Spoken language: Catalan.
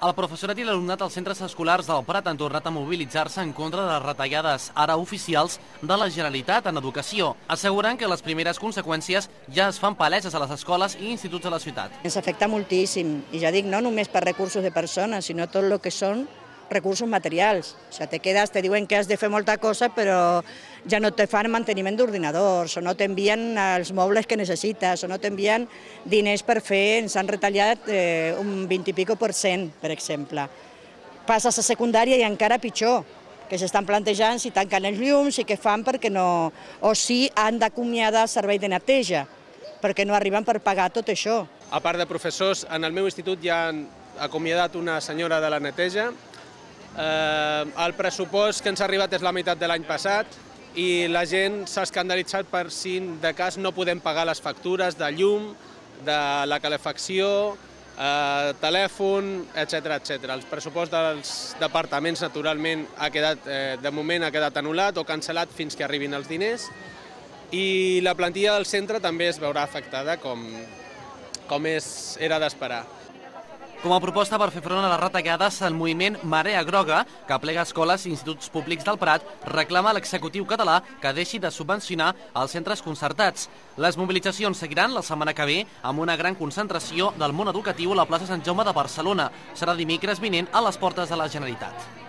El professorat i l'alumnat als centres escolars del Prat han tornat a mobilitzar-se en contra de les retallades ara oficials de la Generalitat en educació, assegurant que les primeres conseqüències ja es fan paleses a les escoles i instituts de la ciutat. Ens afecta moltíssim, i ja dic, no només per recursos de persones, sinó tot el que són recursos materials. O sigui, te diuen que has de fer molta cosa, però ja no te fan manteniment d'ordinadors, o no t'envien els mobles que necessites, o no t'envien diners per fer, ens han retallat un 20 i pico %, per exemple. Passes a secundària i encara pitjor, que s'estan plantejant si tanquen els llums i què fan perquè no... o si han d'acomiadar servei de neteja, perquè no arriben per pagar tot això. A part de professors, en el meu institut ja han acomiadat una senyora de la neteja. El pressupost que ens ha arribat és la meitat de l'any passat i la gent s'ha escandalitzat per si de cas no podem pagar les factures de llum, de la calefacció, telèfon, etc. El pressupost dels departaments, naturalment, de moment ha quedat anul·lat o cancel·lat fins que arribin els diners i la plantilla del centre també es veurà afectada com era d'esperar. Com a proposta per fer front a les retallades, el moviment Marea Groga, que aplega escoles i instituts públics del Prat, reclama a l'executiu català que deixi de subvencionar els centres concertats. Les mobilitzacions seguiran la setmana que ve amb una gran concentració del món educatiu a la plaça Sant Jaume de Barcelona. Serà dimecres vinent a les portes de la Generalitat.